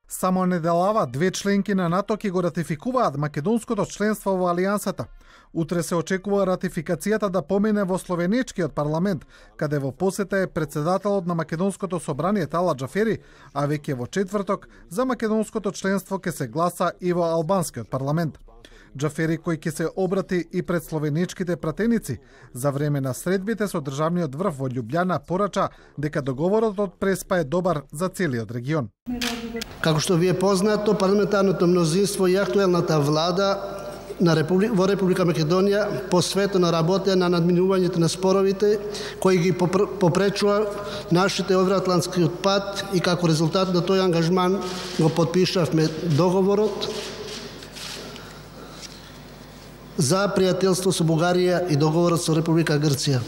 Само неделава две членки на НАТО ќе го ратификуваат македонското членство во Алијансата. Утре се очекува ратификацијата да помине во словенечкиот парламент, каде во посета е председателот на македонското собрание Тала Џафери, а веќе во четврток за македонското членство ќе се гласа и во албанскиот парламент. Џафери, кој ќе се обрати и пред словенечките пратеници, за време на средбите со државниот врв во Љубљана порача дека договорот од Преспа е добар за целиот регион. Како што ви е познато, парламентарното мнозинство и актуелната влада во Република Македонија посветено работеа на надминувањето на споровите кои ги попречува нашите евроатлантскиот пат и како резултат на тој ангажман го потпишавме договорот за пријателство со Бугарија и договорот со Република Грција.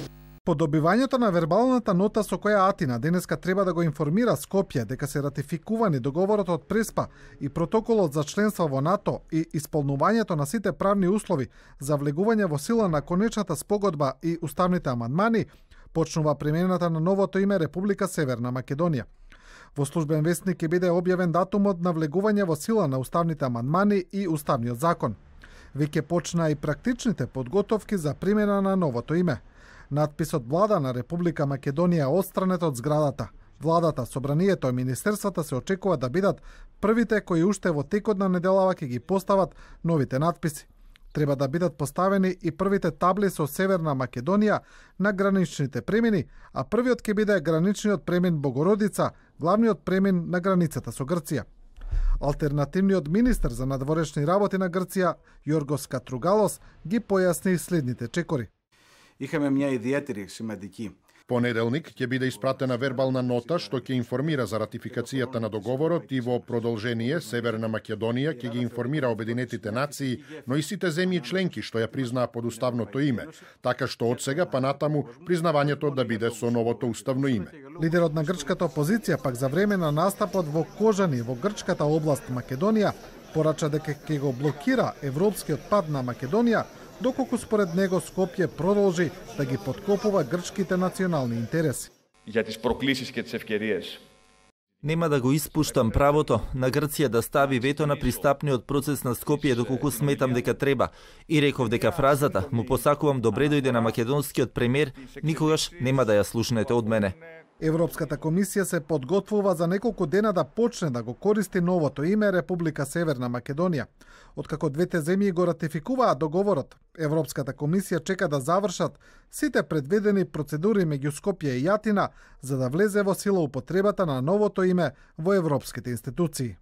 По добивањето на вербалната нота со која Атина денеска треба да го информира Скопје дека се ратификувани договорот од Преспа и протоколот за членство во НАТО и исполнувањето на сите правни услови за влегување во сила на конечната спогодба и уставните амандмани, почнува примената на новото име Република Северна Македонија. Во службен весник ќе биде објавен датумот на влегување во сила на уставните амандмани и уставниот закон. Веќе почна и практичните подготовки за примена на новото име. Надписот Влада на Република Македонија е отстранет од зградата. Владата, собранието и министерствата се очекува да бидат првите кои уште во текот на неделава ќе ги постават новите надписи. Треба да бидат поставени и првите табли со Северна Македонија на граничните премини, а првиот ќе биде граничниот премин Богородица, главниот премин на границата со Грција. Алтернативниот министер за надворешни работи на Грција, Јоргос Катругалос, ги појасни следните чекори. Είχαμε μια ιδιαίτερη σημαντική. Понеделник ќе биде испратена вербална нота што ќе информира за ратификацијата на договорот и во продолжение Северна Македонија ќе ги информира Обединетите нации, но и сите земји членки што ја признаа под уставното име, така што од сега па натаму признавањето да биде со новото уставно име. Лидерот на грчката опозиција пак за време на настапот во Кожани во грчката област Македонија порача дека ќе го блокира европскиот пат на Македонија, доколку според него Скопје продолжи да ги подкопува грчките национални интереси. Για τις προκλήσεις και τις ευκαιρίες. Нема да го испуштам правото на Грција да стави вето на пристапниот процес на Скопје доколку сметам дека треба. И реков дека фразата му посакувам добре дојде на македонскиот премиер никогаш нема да ја слушнете од мене. Европската комисија се подготвува за неколку дена да почне да го користи новото име Република Северна Македонија. Откако двете земји го ратификуваа договорот, Европската комисија чека да завршат сите предвидени процедури меѓу Скопје и Атина за да влезе во сила употребата на новото име во европските институции.